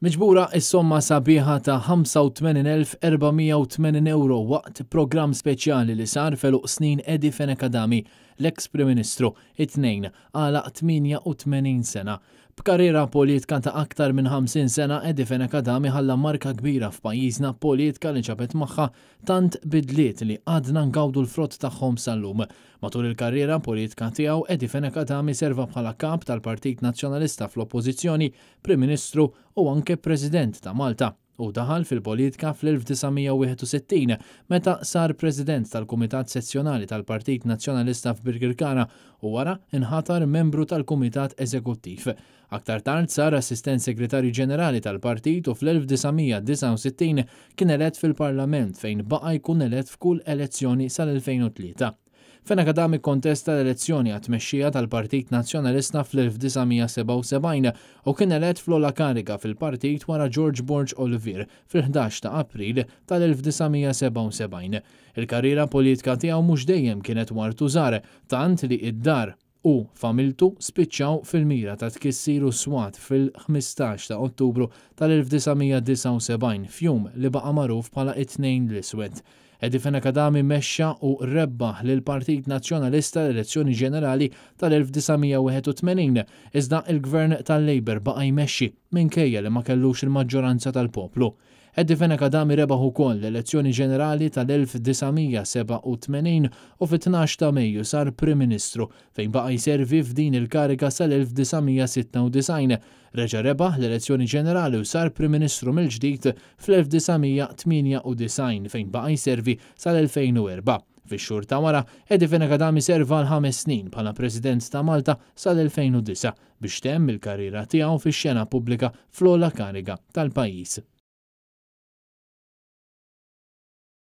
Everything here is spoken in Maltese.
Miġbura s-somma sabiħa ta' 85,480 ewro waqt programm speċjali li sar f'għeluq snin Eddie Fenech Adami, l-eks Prim Ministru, it-Tnejn, għalaq 88 sena. B'karriera politka ta' aktar minn 50 sena, Eddie Fenech Adami ħalla marka kbira f'pajjiżna, politka li ġabet magħha tant bidliet li għadna ngawdu l-frott tagħhom sal-lum. Matul il-karriera politka tiegħu, Eddie Fenech Adami serva bħala Kap tal-Partit Nazzjonalista fl-Oppożizzjoni, Prim Ministru u anke President ta' Malta. Hu daħal fil-politika fl-1961 meta sar President tal-Kumitat Sezzjonali tal-Partit Nazzjonalista f'Birkirkara u wara nħatar membru tal-Kumitat Eżekuttiv. Aktar tard sar Assistent Segretarju Ġenerali tal-Partit u fl-1969 kien elett fil-Parlament fejn baqa' jkun elett f'kull elezzjoni sal-2003. Fenech Adami kkontesta l-elezzjoni għat-tmexxija tal-Partit Nazzjonalista fl-1977 u kien elett fl-ogħla kariga fil-partit wara George Borg Olivier fil-11 ta' April tal-1977. Il-karriera politika tiegħu mhux dejjem kienet wartu żgħar, tant li id-dar u familtu spiċċaw fil-mira ta' tkissir u swat fil-15 ta' Ottubru tal-1979 f'jum li baqa' magħruf bħala it-Tnejn l-Iswed. Eddie Fenech Adami mexxa u rebbaħ lill-Partit Nazzjonalista l-elezzjoni ġenerali tal-1981, iżda l-Gvern tal-Labour baqa' jmexxi minkejja li ma kellux il-maġġoranza tal-poplu. Eddie Fenech Adami rebaħ ukoll l-elezzjoni ġenerali tal-1987 u fit-12 ta' Mejju sar Prim Ministru, fejn baqa' jservi f'din il-kariga sal-1996. Reġa' rebaħ l-elezzjoni ġenerali u sar Prim Ministru mill-ġdid fl-1998 fejn baqa' jservi sal-2004. Fix-xhur ta' wara, Eddie Fenech Adami serva għal ħames snin bħala President ta' Malta sal-2009 biex temm il-karriera tiegħu fix-xena pubblika fl-ogħla kariga tal-pajjiż.